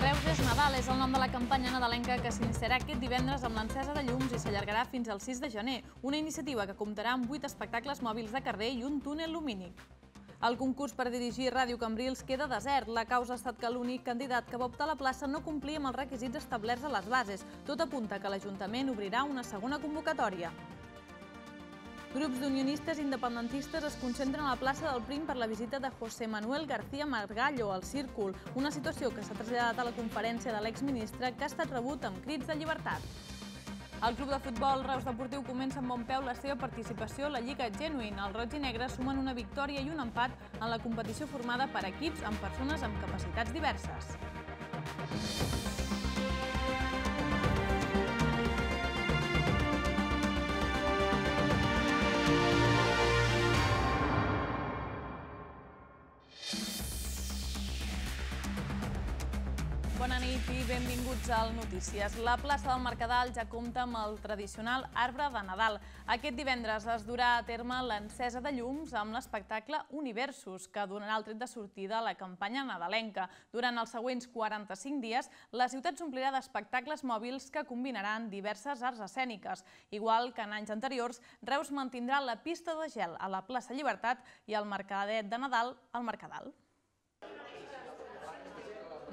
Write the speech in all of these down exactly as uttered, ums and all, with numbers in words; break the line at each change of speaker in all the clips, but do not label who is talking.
Reus és Nadal és el nom de la campanya nadalenca que s'iniciarà aquest divendres amb l'encesa de llums i s'allargarà fins al sis de gener, una iniciativa que comptarà amb vuit espectacles mòbils de carrer i un túnel lumínic. El concurs per dirigir Ràdio Cambrils queda desert. La causa ha estat que l'únic candidat que va optar a la plaça no complia amb els requisits establerts a les bases. Tot apunta que l'Ajuntament obrirà una segona convocatòria. Grups d'unionistes independentistes es concentren a la plaça del Prim per la visita de José Manuel García Margallo al Círcul, una situació que s'ha traslladat a la conferència de l'exministre que ha estat rebut amb crits de llibertat. El club de futbol Reus Deportiu comença amb bon peu la seva participació a la Lliga Genuine. Els roig i negres sumen una victòria i un empat en la competició formada per equips amb persones amb capacitats diverses. Bona nit i benvinguts al Notícies. La plaça del Mercadal ja compta amb el tradicional arbre de Nadal. Aquest divendres es durà a terme l'encesa de llums amb l'espectacle Universos, que donarà el tret de sortida a la campanya nadalenca. Durant els següents quaranta-cinc dies, la ciutat s'omplirà d'espectacles mòbils que combinaran diverses arts escèniques. Igual que en anys anteriors, Reus mantindrà la pista de gel a la plaça Llibertat i el mercadet de Nadal al Mercadal.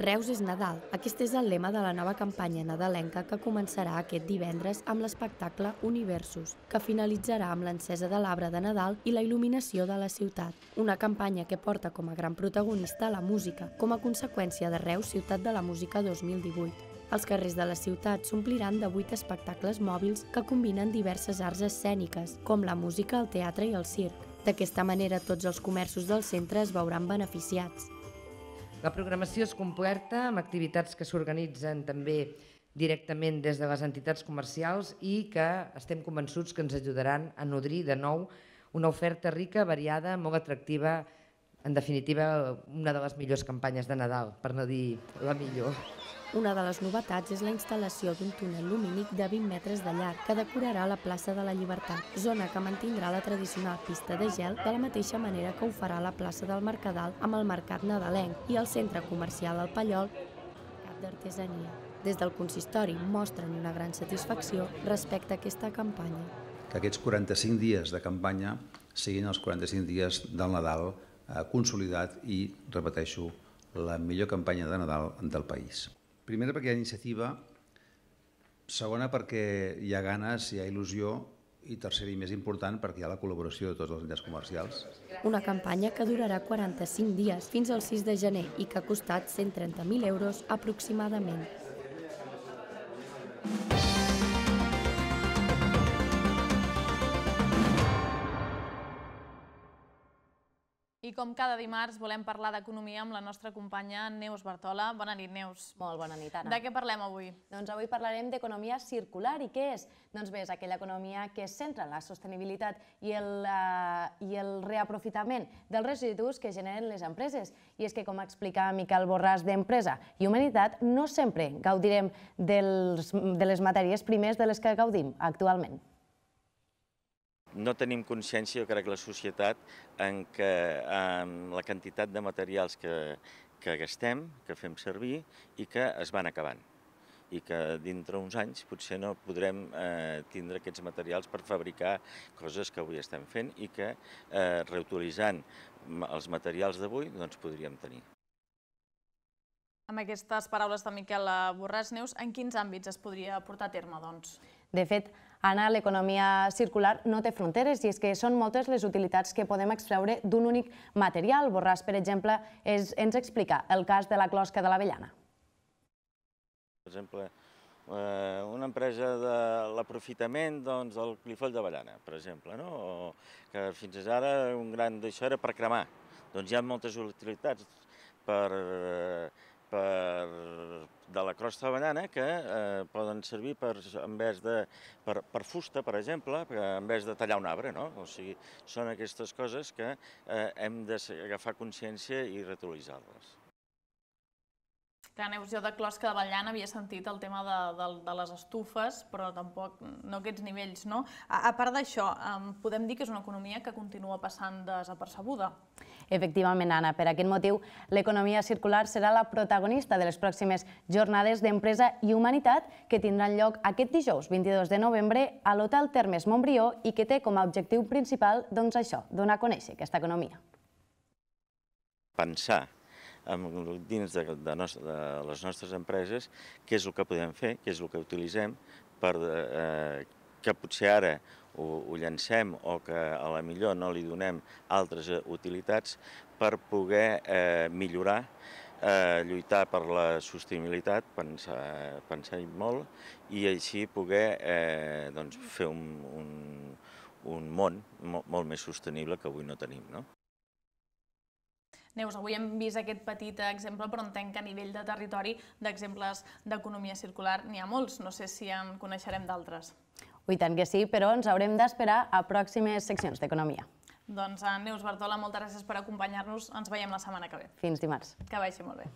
Reus és Nadal. Aquest és el lema de la nova campanya nadalenca que començarà aquest divendres amb l'espectacle Universos, que finalitzarà amb l'encesa de l'arbre de Nadal i la il·luminació de la ciutat. Una campanya que porta com a gran protagonista la música, com a conseqüència de Reus Ciutat de la Música dos mil divuit. Els carrers de la ciutat s'ompliran de vuit espectacles mòbils que combinen diverses arts escèniques, com la música, el teatre i el circ. D'aquesta manera, tots els comerços del centre es veuran beneficiats.
La programació és completa amb activitats que s'organitzen també directament des de les entitats comercials i que estem convençuts que ens ajudaran a nodrir de nou una oferta rica, variada, molt atractiva, en definitiva una de les millors campanyes de Nadal, per no dir la millor.
Una de les novetats és la instal·lació d'un túnel lumínic de vint metres de llarg que decorarà la plaça de la Llibertat, zona que mantindrà la tradicional pista de gel de la mateixa manera que ho farà la plaça del Mercadal amb el mercat nadalenc i el centre comercial El Pallol, mercat d'artesania. Des del consistori mostren una gran satisfacció respecte a aquesta campanya.
Que aquests quaranta-cinc dies de campanya siguin els quaranta-cinc dies del Nadal consolidat i, repeteixo, la millor campanya de Nadal del país. Primera, perquè hi ha iniciativa. Segona, perquè hi ha ganes, hi ha il·lusió. I tercera i més important, perquè hi ha la col·laboració de tots els entitats comercials.
Una campanya que durarà quaranta-cinc dies fins al sis de gener i que ha costat cent trenta mil euros aproximadament.
I com cada dimarts volem parlar d'economia amb la nostra companya Neus Bartola. Bona nit, Neus.
Molt bona nit, Anna.
De què parlem avui?
Doncs avui parlarem d'economia circular. I què és? Doncs bé, és aquella economia que es centra en la sostenibilitat i el, uh, i el reaprofitament dels residus que generen les empreses. I és que, com explica Miquel Borràs d'Empresa i Humanitat, no sempre gaudirem dels, de les matèries primeres de les que gaudim actualment.
No tenim consciència, jo crec, la societat, en què la quantitat de materials que, que gastem, que fem servir i que es van acabant. I que dintre uns anys potser no podrem eh, tindre aquests materials per fabricar coses que avui estem fent i que eh, reutilitzant els materials d'avui doncs podríem tenir.
Amb aquestes paraules de Miquel Borràs, Neus, en quins àmbits es podria portar a terme, doncs?
De fet, Anna, l'economia circular no té fronteres i és que són moltes les utilitats que podem extreure d'un únic material. Borràs, per exemple, és, ens explica el cas de la closca de l'avellana.
Per exemple, eh, una empresa de l'aprofitament doncs, del clifoll d'avellana, per exemple, no? O que fins ara un gran d'això era per cremar. Doncs hi ha moltes utilitats per... Eh, Per, de la crosta d'avellana que eh, poden servir per, en vez de, per, per fusta, per exemple, en vez de tallar un arbre, no? O sigui, són aquestes coses que eh, hem d'agafar consciència i reutilitzar-les.
Clar, Neus, jo de closca de Vallan havia sentit el tema de, de, de les estufes, però tampoc no aquests nivells, no? A, a part d'això, podem dir que és una economia que continua passant desapercebuda.
Efectivament, Anna. Per aquest motiu, l'economia circular serà la protagonista de les pròximes jornades d'empresa i humanitat que tindran lloc aquest dijous, vint-i-dos de novembre, a l'Hotel Termes Montbrió i que té com a objectiu principal, doncs això, donar a conèixer aquesta economia.
Pensar dins de, de, nos, de les nostres empreses què és el que podem fer, què és el que utilitzem, per, eh, que potser ara ho, ho llancem o que a la millor no li donem altres utilitats per poder eh, millorar, eh, lluitar per la sostenibilitat, pensar, pensar molt, i així poder eh, doncs, fer un, un, un món molt, molt més sostenible que avui no tenim, no?
Neus, avui hem vist aquest petit exemple, però entenc que a nivell de territori d'exemples d'economia circular n'hi ha molts. No sé si en coneixerem d'altres.
I tant que sí, però ens haurem d'esperar a pròximes seccions d'economia.
Doncs, Neus Bartola, moltes gràcies per acompanyar-nos. Ens veiem la setmana que ve.
Fins dimarts.
Que vagi molt bé.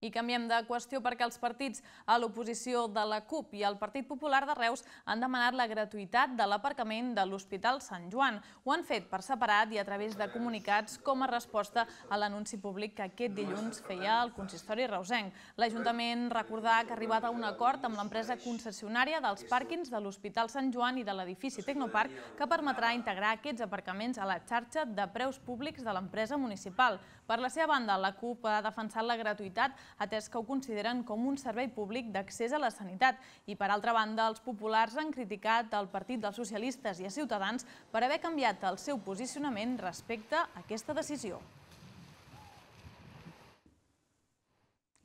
I canviem de qüestió perquè els partits a l'oposició de la CUP i el Partit Popular de Reus han demanat la gratuïtat de l'aparcament de l'Hospital Sant Joan. Ho han fet per separat i a través de comunicats com a resposta a l'anunci públic que aquest dilluns feia el consistori reusenc. L'Ajuntament recordà que ha arribat a un acord amb l'empresa concessionària dels pàrquings de l'Hospital Sant Joan i de l'edifici Tecnoparc que permetrà integrar aquests aparcaments a la xarxa de preus públics de l'empresa municipal. Per la seva banda, la CUP ha defensat la gratuïtat atès que ho consideren com un servei públic d'accés a la sanitat. I, per altra banda, els populars han criticat el Partit dels Socialistes i a Ciutadans per haver canviat el seu posicionament respecte a aquesta decisió.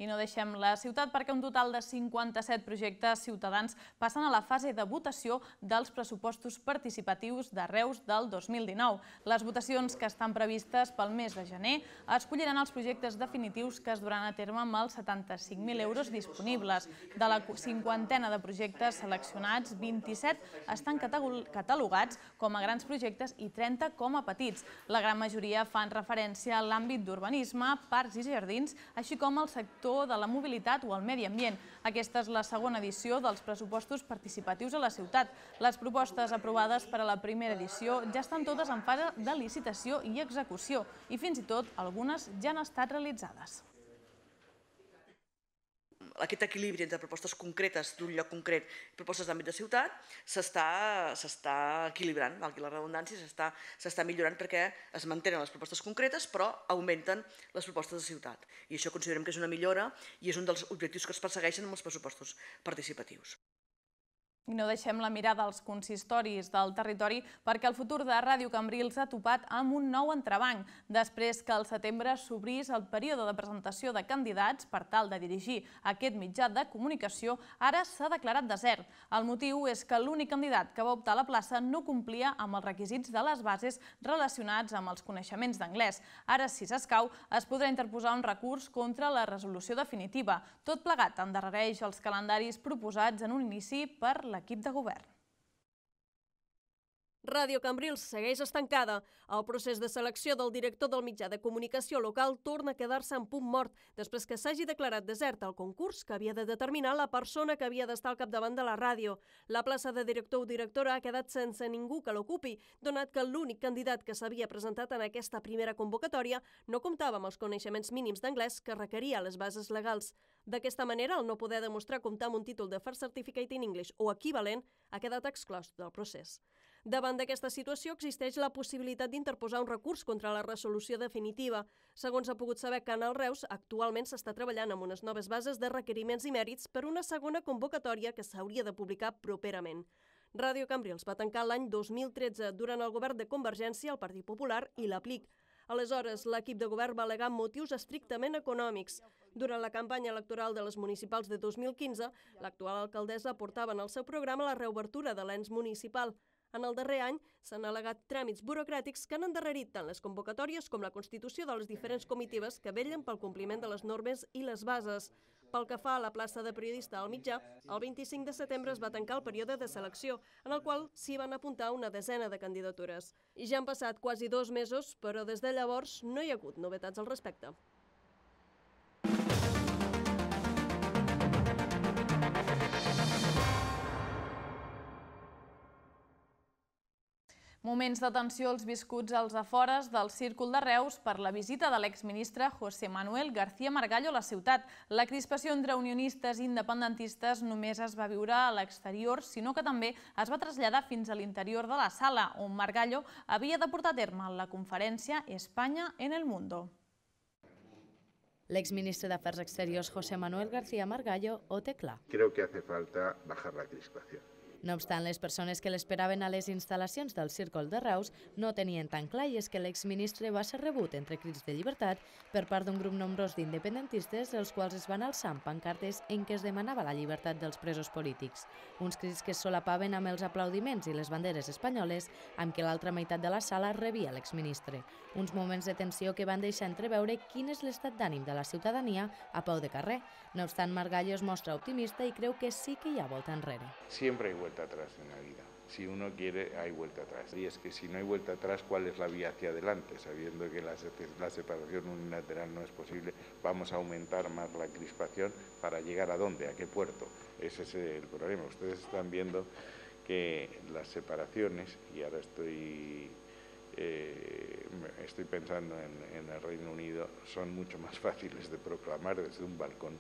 I no deixem la ciutat perquè un total de cinquanta-set projectes ciutadans passen a la fase de votació dels pressupostos participatius de Reus del dos mil dinou. Les votacions que estan previstes pel mes de gener escolliran els projectes definitius que es duran a terme amb els setanta-cinc mil euros disponibles. De la cinquantena de projectes seleccionats, vint-i-set estan catalogats com a grans projectes i trenta com a petits. La gran majoria fan referència a l'àmbit d'urbanisme, parcs i jardins, així com al sector de la mobilitat o el medi ambient. Aquesta és la segona edició dels pressupostos participatius a la ciutat. Les propostes aprovades per a la primera edició ja estan totes en fase de licitació i execució i fins i tot algunes ja han estat realitzades.
Aquest equilibri entre propostes concretes d'un lloc concret i propostes d'àmbit de ciutat s'està equilibrant, valgui la redundància, s'està millorant perquè es mantenen les propostes concretes però augmenten les propostes de ciutat. I això considerem que és una millora i és un dels objectius que es persegueixen amb els pressupostos participatius.
I no deixem la mirada als consistoris del territori perquè el futur de Ràdio Cambrils ha topat amb un nou entrebanc. Després que al setembre s'obrís el període de presentació de candidats per tal de dirigir aquest mitjà de comunicació, ara s'ha declarat desert. El motiu és que l'únic candidat que va optar a la plaça no complia amb els requisits de les bases relacionats amb els coneixements d'anglès. Ara, si s'escau, es podrà interposar un recurs contra la resolució definitiva. Tot plegat endarrereix els calendaris proposats en un inici per l'equip de govern.
Ràdio Cambrils segueix estancada. El procés de selecció del director del mitjà de comunicació local torna a quedar-se en punt mort després que s'hagi declarat desert el concurs que havia de determinar la persona que havia d'estar al capdavant de la ràdio. La plaça de director o directora ha quedat sense ningú que l'ocupi, donat que l'únic candidat que s'havia presentat en aquesta primera convocatòria no comptava amb els coneixements mínims d'anglès que requeria les bases legals. D'aquesta manera, el no poder demostrar comptar amb un títol de First Certificate in English o equivalent ha quedat exclòs del procés. Davant d'aquesta situació existeix la possibilitat d'interposar un recurs contra la resolució definitiva. Segons ha pogut saber Canal Reus, actualment s'està treballant amb unes noves bases de requeriments i mèrits per una segona convocatòria que s'hauria de publicar properament. Ràdio Cambrils va tancar l'any dos mil tretze durant el govern de Convergència, el Partit Popular i l'Aplic. Aleshores, l'equip de govern va al·legar motius estrictament econòmics. Durant la campanya electoral de les municipals de dos mil quinze, l'actual alcaldessa portava en el seu programa la reobertura de l'ens municipal. En el darrer any s'han al·legat tràmits burocràtics que han endarrerit tant les convocatòries com la constitució de les diferents comitives que vetllen pel compliment de les normes i les bases. Pel que fa a la plaça de periodista al mitjà, el vint-i-cinc de setembre es va tancar el període de selecció, en el qual s'hi van apuntar una desena de candidatures. I ja han passat quasi dos mesos, però des de llavors no hi ha hagut novetats al respecte.
Moments de tensió els viscuts als afores del Círcul de Reus per la visita de l'exministre José Manuel García Margallo a la ciutat. La crispació entre unionistes i independentistes només es va viure a l'exterior, sinó que també es va traslladar fins a l'interior de la sala, on Margallo havia de portar a terme la conferència España en el Mundo.
L'exministre d'Afers Exteriors José Manuel García Margallo ho té clar.
Creo que hace falta bajar la crispación.
No obstant, les persones que l'esperaven a les instal·lacions del Círcul de Reus no tenien tan clar, i és que l'exministre va ser rebut entre crits de llibertat per part d'un grup nombrós d'independentistes, els quals es van alçar amb pancartes en què es demanava la llibertat dels presos polítics. Uns crits que es solapaven amb els aplaudiments i les banderes espanyoles amb què l'altra meitat de la sala rebia l'exministre. Uns moments de tensió que van deixar entreveure quin és l'estat d'ànim de la ciutadania a peu de carrer. No obstant, Margallo es mostra optimista i creu que sí que hi ha volta enrere.
Siempre hay vuelta atrás en la vida. Si uno quiere, hay vuelta atrás. Y es que si no hay vuelta atrás, ¿cuál es la vía hacia adelante? Sabiendo que la, la separación unilateral no es posible, vamos a aumentar más la crispación para llegar a dónde, a qué puerto. Ese es el problema. Ustedes están viendo que las separaciones, y ahora estoy, eh, estoy pensando en, en el Reino Unido, son mucho más fáciles de proclamar desde un balcón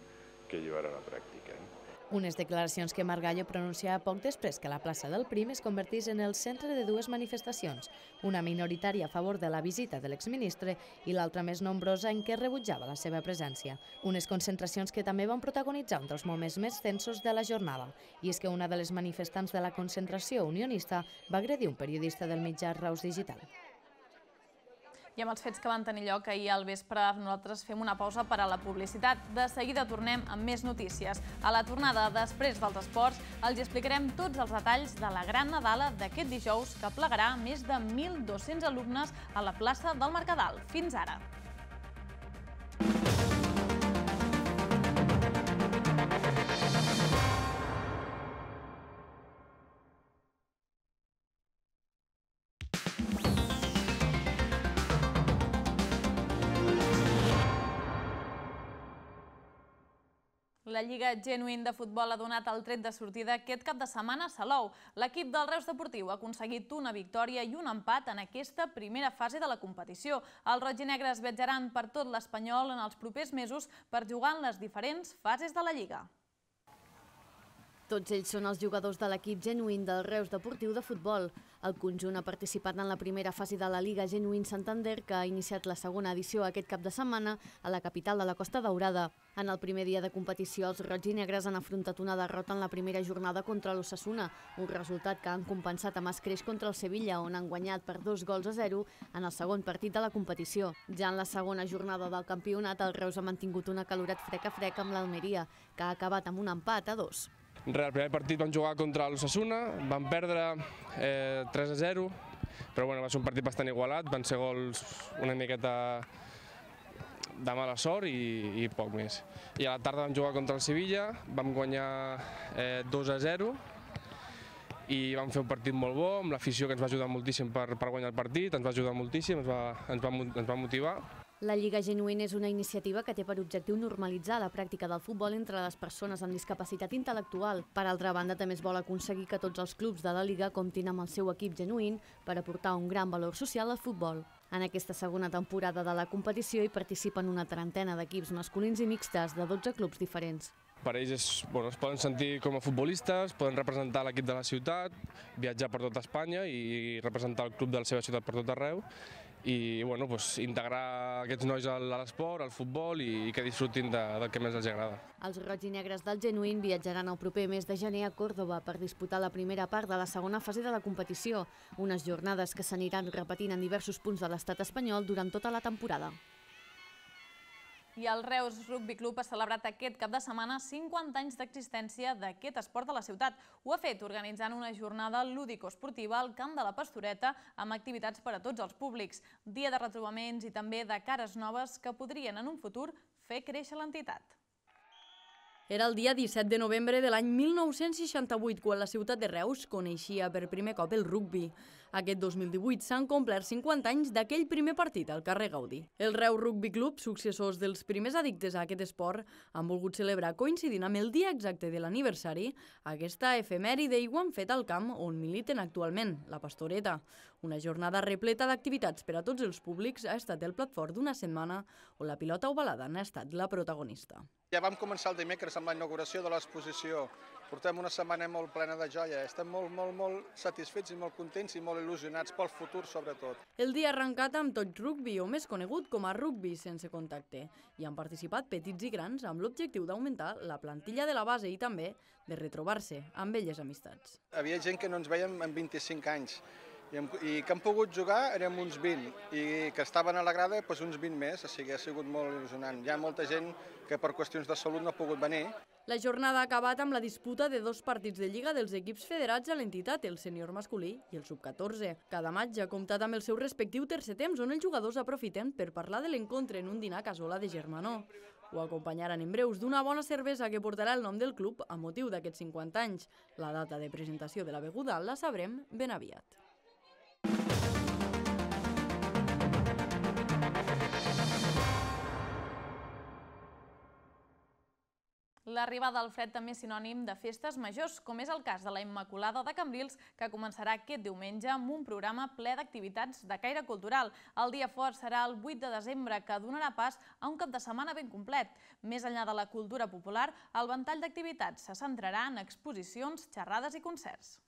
que llevar a la práctica, ¿eh?
Unes declaracions que Margallo pronunciava poc després que la plaça del Prim es convertís en el centre de dues manifestacions, una minoritària a favor de la visita de l'exministre i l'altra més nombrosa en què rebutjava la seva presència. Unes concentracions que també van protagonitzar un dels moments més tensos de la jornada, i és que una de les manifestants de la concentració unionista va agredir un periodista del mitjà Reus Digital.
I amb els fets que van tenir lloc ahir al vespre, nosaltres fem una pausa per a la publicitat. De seguida tornem amb més notícies. A la tornada, després dels esports, els explicarem tots els detalls de la gran Nadala d'aquest dijous que plegarà més de mil dos-cents alumnes a la plaça del Mercadal. Fins ara! La Lliga Genuïn de futbol ha donat el tret de sortida aquest cap de setmana a Salou. L'equip del Reus Deportiu ha aconseguit una victòria i un empat en aquesta primera fase de la competició. Els rojinegres viatjaran per tot l'Espanyol en els propers mesos per jugar en les diferents fases de la Lliga.
Tots ells són els jugadors de l'equip Genuïn del Reus Deportiu de futbol. El conjunt ha participat en la primera fase de la Lliga Genuïn Santander, que ha iniciat la segona edició aquest cap de setmana a la capital de la Costa Daurada. En el primer dia de competició, els rojinegres han afrontat una derrota en la primera jornada contra l'Osasuna, un resultat que han compensat amb escreix contra el Sevilla, on han guanyat per dos gols a zero en el segon partit de la competició. Ja en la segona jornada del campionat, el Reus ha mantingut un acalorat frec a frec amb l'Almeria, que ha acabat amb un empat a dos.
El primer partit vam jugar contra l'Osasuna, vam perdre eh, tres a zero, però bueno, va ser un partit bastant igualat, van ser gols una miqueta de mala sort i, i poc més. I a la tarda vam jugar contra el Sevilla, vam guanyar eh, dos a zero i vam fer un partit molt bo, amb l'afició que ens va ajudar moltíssim per, per guanyar el partit, ens va ajudar moltíssim, ens va, ens va, ens va motivar.
La Lliga Genuïn és una iniciativa que té per objectiu normalitzar la pràctica del futbol entre les persones amb discapacitat intel·lectual. Per altra banda, també es vol aconseguir que tots els clubs de la Lliga comptin amb el seu equip genuïn per aportar un gran valor social al futbol. En aquesta segona temporada de la competició hi participen una trentena d'equips masculins i mixtes de dotze clubs diferents.
Per ells és, bueno, es poden sentir com a futbolistes, poden representar l'equip de la ciutat, viatjar per tot Espanya i representar el club de la seva ciutat per tot arreu i bueno, pues, integrar aquests nois a l'esport, al futbol i, i que disfrutin de, del que més els agrada.
Els rojinegres del Genuïn viatjaran el proper mes de gener a Còrdova per disputar la primera part de la segona fase de la competició, unes jornades que s'aniran repetint en diversos punts de l'estat espanyol durant tota la temporada.
I el Reus Rugby Club ha celebrat aquest cap de setmana cinquanta anys d'existència d'aquest esport a la ciutat. Ho ha fet organitzant una jornada lúdico-esportiva al Camp de la Pastoreta amb activitats per a tots els públics, dia de retrobaments i també de cares noves que podrien en un futur fer créixer l'entitat.
Era el dia disset de novembre de l'any mil nou-cents seixanta-vuit, quan la ciutat de Reus coneixia per primer cop el rugbi. Aquest dos mil divuit s'han complert cinquanta anys d'aquell primer partit al carrer Gaudí. El Reus Rugby Club, successors dels primers addictes a aquest esport, han volgut celebrar, coincidint amb el dia exacte de l'aniversari, aquesta efemèride i ho han fet al camp on militen actualment, la Pastoreta. Una jornada repleta d'activitats per a tots els públics ha estat el plat fort d'una setmana on la pilota ovalada n'ha estat la protagonista.
Ja vam començar el dimecres amb la inauguració de l'exposició. Portem una setmana molt plena de joia. Estem molt, molt, molt satisfets i molt contents i molt il·lusionats pel futur, sobretot.
El dia ha arrencat amb Touch Rugby, o més conegut com a rugby sense contacte. Hi han participat petits i grans amb l'objectiu d'augmentar la plantilla de la base i també de retrobar-se amb velles amistats.
Havia gent que no ens veiem en vint-i-cinc anys i que han pogut jugar érem uns vint i que estaven a la grada doncs uns vint més, o sigui, ha sigut molt il·lusionant. Hi ha molta gent que per qüestions de salut no ha pogut venir.
La jornada ha acabat amb la disputa de dos partits de lliga dels equips federats a l'entitat, el sènior masculí i el sub catorze. Cada matx ha comptat amb el seu respectiu tercer temps, on els jugadors aprofiten per parlar de l'encontre en un dinar a casola de germanor. Ho acompanyaran en breus d'una bona cervesa que portarà el nom del club a motiu d'aquests cinquanta anys. La data de presentació de la beguda la sabrem ben aviat.
L'arribada del fred també és sinònim de festes majors, com és el cas de la Immaculada de Cambrils, que començarà aquest diumenge amb un programa ple d'activitats de caire cultural. El dia fort serà el vuit de desembre, que donarà pas a un cap de setmana ben complet. Més enllà de la cultura popular, el ventall d'activitats se centrarà en exposicions, xerrades i concerts.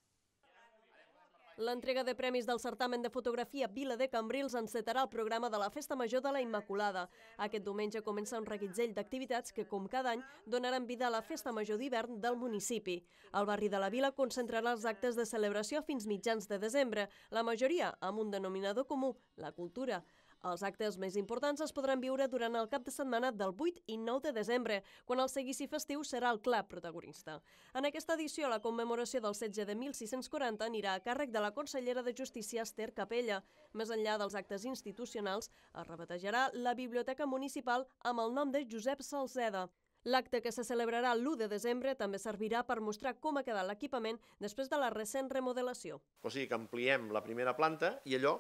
L'entrega de premis del certamen de fotografia Vila de Cambrils encetarà el programa de la Festa Major de la Immaculada. Aquest diumenge comença un reguitzell d'activitats que, com cada any, donaran vida a la Festa Major d'hivern del municipi. El barri de la Vila concentrarà els actes de celebració fins mitjans de desembre, la majoria amb un denominador comú, la cultura. Els actes més importants es podran viure durant el cap de setmana del vuit i nou de desembre, quan el seguici festiu serà el clar protagonista. En aquesta edició, la commemoració del setge de mil sis-cents quaranta anirà a càrrec de la consellera de Justícia Esther Capella. Més enllà dels actes institucionals, es rebatejarà la Biblioteca Municipal amb el nom de Josep Salceda. L'acte, que se celebrarà l'u de desembre, també servirà per mostrar com ha quedat l'equipament després de la recent remodelació.
O sigui que ampliem la primera planta i allò,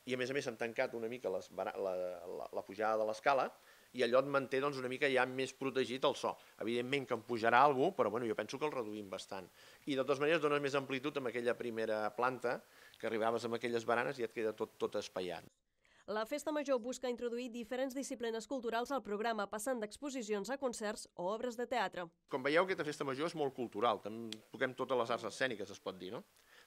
i a més a més hem tancat una mica les, la, la, la pujada de l'escala i allò et manté doncs, una mica ja més protegit el so. Evidentment que en pujarà algú, però bueno, jo penso que el reduïm bastant. I de totes maneres dones més amplitud amb aquella primera planta, que arribaves amb aquelles baranes i et queda tot, tot espaiat.
La Festa Major busca introduir diferents disciplines culturals al programa, passant d'exposicions a concerts o obres de teatre.
Com veieu, aquesta Festa Major és molt cultural, toquem totes les arts escèniques, es pot dir, no?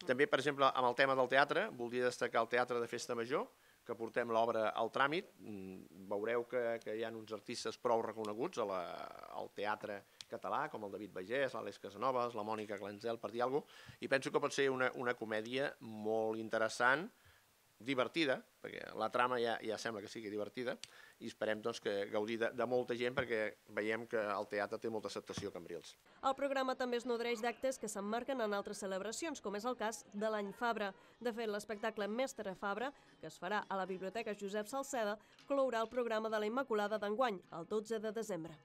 També, per exemple, amb el tema del teatre, voldria destacar el Teatre de Festa Major, que portem l'obra al tràmit. Veureu que, que hi ha uns artistes prou reconeguts a la, al teatre català, com el David Bagés, l'Àlex Casanovas, la Mònica Glanzel, per dir alguna cosa, i penso que pot ser una, una comèdia molt interessant, divertida, perquè la trama ja, ja sembla que sigui divertida, i esperem doncs, que gaudir de, de molta gent, perquè veiem que el teatre té molta acceptació a Cambrils.
El programa també es nodreix d'actes que s'emmarquen en altres celebracions, com és el cas de l'Any Fabra. De fet, l'espectacle Mestre Fabra, que es farà a la Biblioteca Josep Salceda, clourà el programa de la Immaculada d'enguany, el dotze de desembre.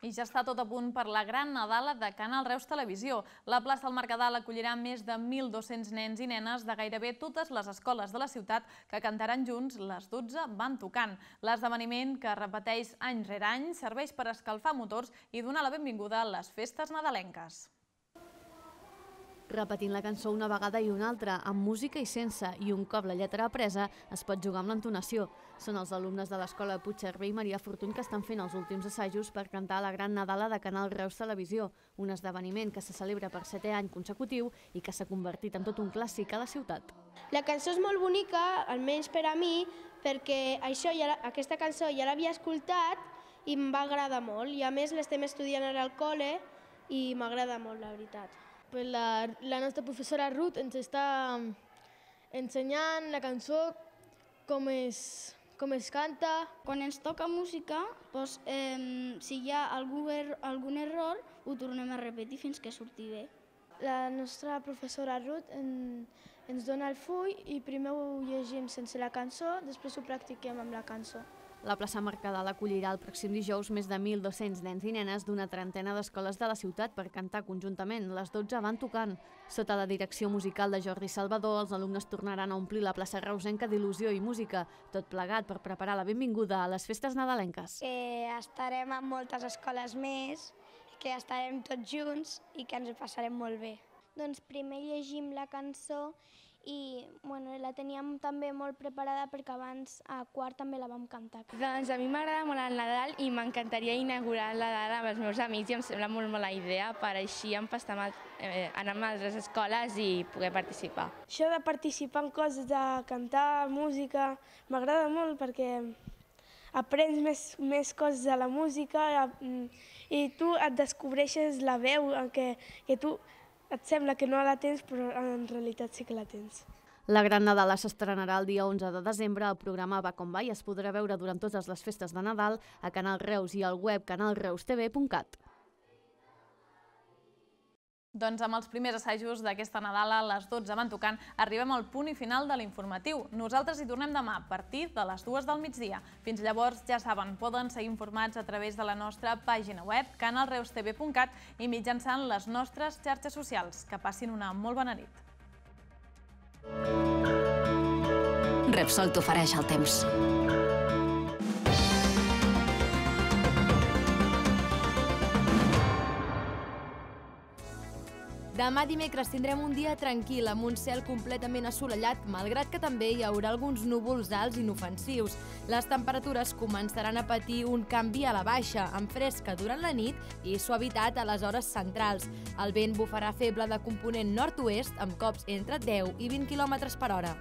I ja està tot a punt per la gran Nadala de Canal Reus Televisió. La plaça del Mercadal acollirà més de mil dos-cents nens i nenes de gairebé totes les escoles de la ciutat que cantaran junts les dotze Van Tocant. L'esdeveniment, que repeteix any rere any, serveix per escalfar motors i donar la benvinguda a les festes nadalenques.
Repetint la cançó una vegada i una altra, amb música i sense, i un cop la lletra apresa, es pot jugar amb l'entonació. Són els alumnes de l'escola Puigcerver i Maria Fortuny que estan fent els últims assajos per cantar la gran Nadala de Canal Reus Televisió, un esdeveniment que se celebra per setè any consecutiu i que s'ha convertit en tot un clàssic a la ciutat.
La cançó és molt bonica, almenys per a mi, perquè això ja, aquesta cançó ja l'havia escoltat i em va agradar molt. I a més l'estem estudiant ara al col·le i m'agrada molt, la veritat.
La, la nostra professora Ruth ens està ensenyant la cançó, com es, com es canta.
Quan ens toca música, doncs, eh, si hi ha algun, er, algun error, ho tornem a repetir fins que surti bé.
La nostra professora Ruth en, ens dona el full i primer ho llegim sense la cançó, després ho practiquem amb la cançó.
La plaça Mercadal acollirà el pròxim dijous més de mil dos-cents nens i nenes d'una trentena d'escoles de la ciutat per cantar conjuntament. Les dotze van tocant. Sota la direcció musical de Jordi Salvador, els alumnes tornaran a omplir la plaça reusenca d'il·lusió i música, tot plegat per preparar la benvinguda a les festes nadalenques.
Que estarem en moltes escoles més, que estarem tots junts i que ens ho passarem molt bé.
Doncs primer llegim la cançó i bueno, la teníem també molt preparada perquè abans a quart també la vam cantar.
Doncs a mi m'agrada molt el Nadal i m'encantaria inaugurar el Nadal amb els meus amics i em sembla molt bona idea per així empastar eh, anar a les escoles i poder participar.
Això de participar en coses, de cantar, música, m'agrada molt perquè aprens més, més coses de la música i tu et descobreixes la veu que, que tu et sembla que no la tens, però en realitat sí que la tens.
La Gran Nadala s'estrenarà el dia onze de desembre. El programa Va com va i es podrà veure durant totes les festes de Nadal a Canal Reus i al web canal reus t v punt cat.
Doncs amb els primers assajos d'aquesta Nadala, a les dotze van tocant, arribem al punt i final de l'informatiu. Nosaltres hi tornem demà a partir de les dues del migdia. Fins llavors, ja saben, poden seguir informats a través de la nostra pàgina web, canal reus t v punt cat i mitjançant les nostres xarxes socials. Que passin una molt bona nit.
Repsol t'ofereix el temps.
Demà dimecres tindrem un dia tranquil, amb un cel completament assolellat, malgrat que també hi haurà alguns núvols alts inofensius. Les temperatures començaran a patir un canvi a la baixa, amb fresca durant la nit i suavitat a les hores centrals. El vent bufarà feble de component nord-oest, amb cops entre deu i vint quilòmetres per hora.